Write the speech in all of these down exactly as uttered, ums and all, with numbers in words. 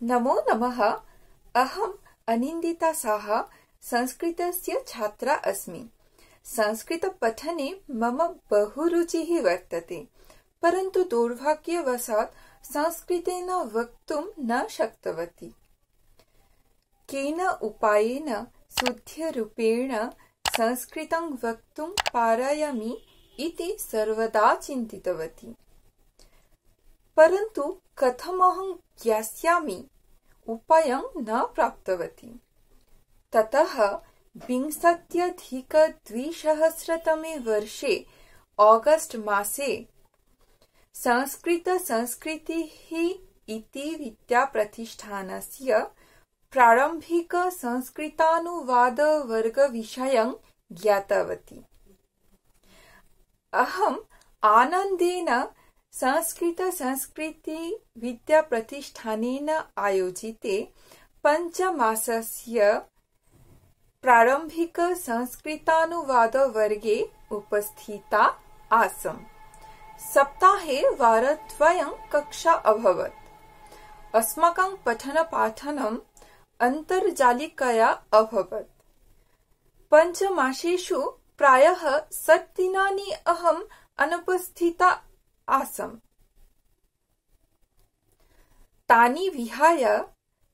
नमो नमः। अहम् अनिन्दिता साहा संस्कृतस्य छात्रा अस्मि। संस्कृतपठने मम बहु रुचिः वर्तते, परन्तु दुर्भाग्यवशात् संस्कृतेन वक्तुं न शक्तवती। केन उपायेन शुद्धरूपेण संस्कृतं वक्तुं पारयामि इति सर्वदा चिन्तितवती, परन्तु कथमहं ज्ञास्यामि उपायं न प्राप्तवती। ततः विंशत्यधिकद्विसहस्रतमे वर्षे ऑगस्ट मासे संस्कृतसंस्कृतिः इति विद्याप्रतिष्ठानस्य प्रारम्भिकसंस्कृतानुवादवर्गविषयं ज्ञातवती। अहम् आनन्देन संस्कृतसंस्कृति विद्याप्रतिष्ठानेन आयोजिते पञ्चमासस्य प्रारम्भिकसंस्कृतानुवादवर्गे उपस्थिता आसम्। सप्ताहे वारद्वयं कक्षा अभवत्। अस्माकं पठनपाठनम् अन्तर्जालिकया अभवत्। पञ्चमासेषु प्रायः षट् दिनानि अहम् अनुपस्थिता आसम्। तानि विहाय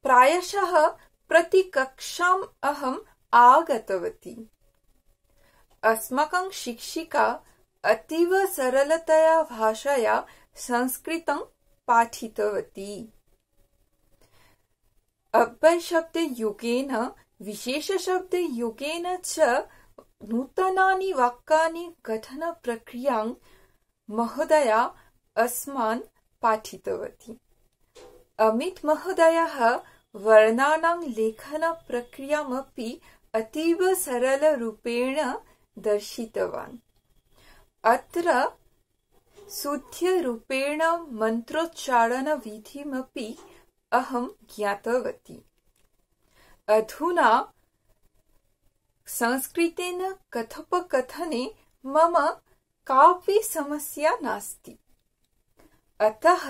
प्रायशः प्रतिकक्षाम् अहम् आगतवती। अस्माकं शिक्षिका अतीव सरलतया भाषया संस्कृतं पाठितवती। अव्ययशब्दयोगेन विशेषशब्दयोगेन च नूतनानि वाक्यानि गठनप्रक्रियां महोदया अस्मान् पाठितवती। अमित महोदयः वर्णानां लेखनप्रक्रियामपि अतीव सरलरूपेण दर्शितवान्। अत्र शुद्धरूपेण मन्त्रोच्चारणविधिमपि अहं ज्ञातवती। अधुना संस्कृतेन कथोपकथने मम कापि समस्या नास्ति। अतः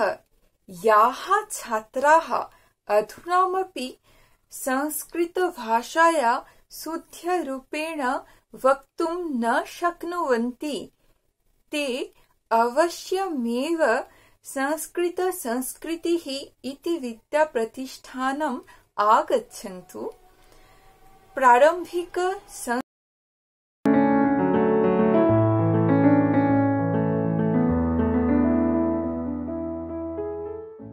याः छात्राः अधुनामपि संस्कृतभाषया शुद्धरूपेण वक्तुं न शक्नुवन्ति, ते अवश्यमेव संस्कृतसंस्कृतिः इति विद्याप्रतिष्ठानम् आगच्छन्तु। प्रारम्भिक